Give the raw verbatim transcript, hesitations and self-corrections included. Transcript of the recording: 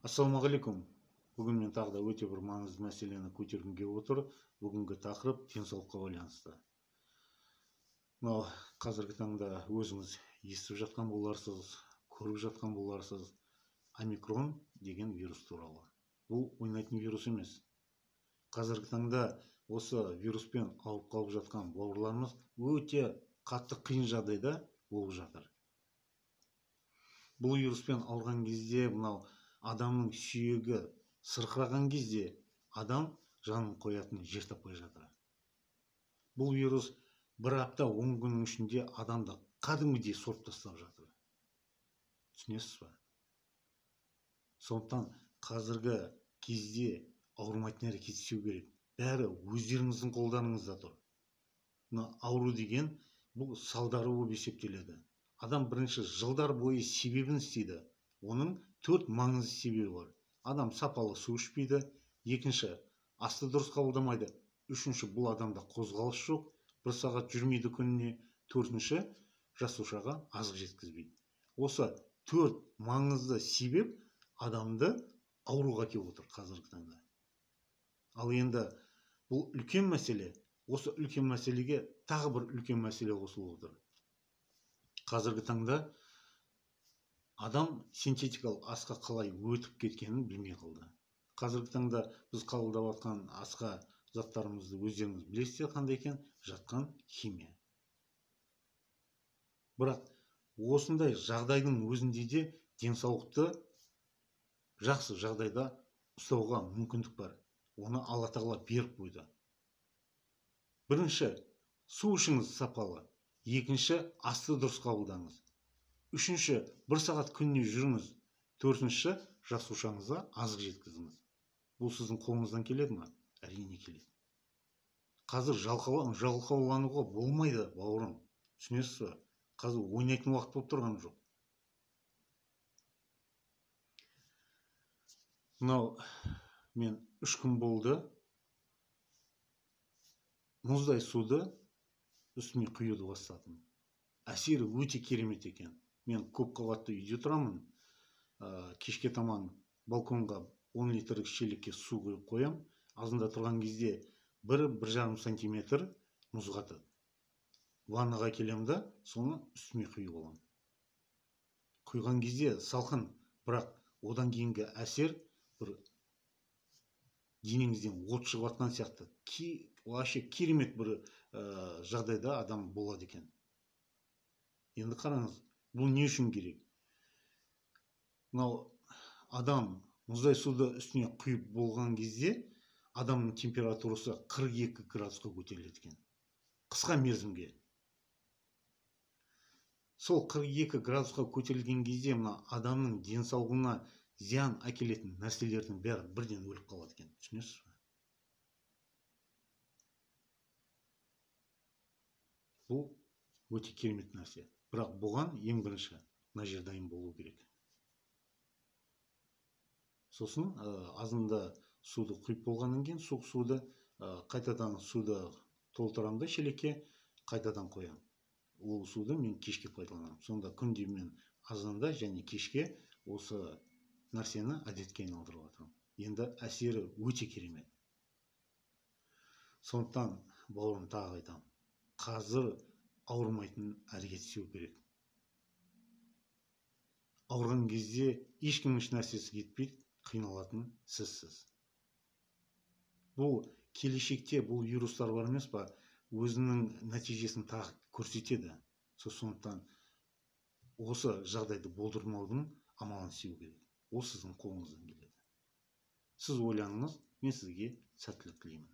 Ассалаумағалейкум. Бүгін мен тағы да өте бір маңызды мәселені көтергім келіп отыр. Бүгінгі тақырып денсаулыққа байланысты. Мынау қазіргі таңда өзіңіз естіп жатқан боларсыз, көріп жатқан боларсыз, омикрон деген вирус туралы. Бұл ойнайтын вирус емес. Қазіргі таңда осы вируспен ауырып қалып жатқан бауырларымыз өте қатты қиын жағдайда болып жатыр. Бұл вируспен ауырған кезде, мынау адамның сүйегі сырқыраған кезде адам жанын қоятын жер таппай жатыр. Бұл вирус бір апта он күннің ішінде адамды кәдімгідей сорып тастап жатыр. Түсінесіз ба? Сондықтан қазіргі кезде ауырмайтын әрекет істеу керек. Бәрі өздеріңіздің қолдарыңызда тұр. Мына ауру деген бұл салдары болып есептеледі. Адам бірінші жылдар бойы себебін істейді. Оның төрт маңызды себебі бар. Адам сапалы су ішпейді. Екінші, асты дұрыс қабылдамайды. Үшінші, бұл адамда қозғалыс жоқ. Бір сағат жүрмейді күніне. Төртінші, жасушаға азық жеткізбейді. Осы төрт маңызды себеп адамды ауруға әкеліп отыр қазіргі таңда. Ал енді бұл үлкен мәселе. Осы үлкен мәселеге тағы бір үлкен мәселе қосылып отыр. Қазіргі таңда адам синтетикалық асқа қалай өтіп кеткенін білмей қалды. Қазіргі таңда біз қабылдап жатқан асқа заттарымызды өздеріңіз білесіздер қандай екен? Жатқан химия. Бірақ осындай жағдайдың өзінде де денсаулықты жақсы жағдайда ұстауға мүмкіндік бар. Оны Алла тағала беріп қойды. Бірінші, су ішіңіз сапалы. Екінші, асты дұрыс қабылдаңыз. Үшінші, бір сағат күніне жүріңіз. Төртінші, жасушаңызға азық жеткізіңіз. Бұл сіздің қолыңыздан келеді ме? Әрине келеді. Қазір жалқаулануға болмайды, бауырым. Түсінесіз бе? Қазір ойнайтын уақыт болып тұрған жоқ. Мынау мен үш күн болды. Мұздай суды үстіме құюды бастадым. Әсері өте керемет екен. Мен көп қабатты үйде тұрамын. Кешке таман балконға он литрлік шелекке су құйып қоям. Азында тұрған кезде бір бір жарым сантиметр мұз қатады. Ваннаға келем да, соны үстіме құйып аламын. Құйған кезде салқын, бірақ одан кейінгі әсер бір денеңізден от шығып жатқан сияқты. Вообще керемет бір жағдайда адам болады екен. Енді қараңыз, бұл не үшін керек? Мынау адам мұздай суды үстіне құйып болған кезде адамның температурасы қырық екі градусқа көтеріледі екен. Қысқа мерзімге. Сол қырық екі градусқа көтерілген кезде мына адамның денсаулығына зиян әкелетін нәрселердің бәрі бірден өліп қалады екен. Түсінесіз бе? Бұл өте керемет нәрсе. Бірақ бұған ең бірінші мына жер дайын болу керек. Сосын азында суды құйып болғаннан кейін суық суды қайтадан суды толтырамын да шелекке, қайтадан қоямын. Ол суды мен кешке пайдаланамын. Сонда күнде мен азанда және кешке осы нәрсені әдетке айналдырып жатырмын. Енді әсері өте керемет. Сондықтан бауырым тағы айтамын. Қазір ауырмайтын әрекет істеу керек. Ауырған кезде ешкімнің еш нәрсесі кетпейді, қиналатын сізсіз. Бұл келешекте бұл вирустар бар емес па, өзінің нәтижесін тағы көрсетеді. Сондықтан осы жағдайды болдырмаудың амалын істеу керек. Ол сіздің қолыңыздан келеді. Сіз ойланыңыз, мен сізге сәттілік тілеймін.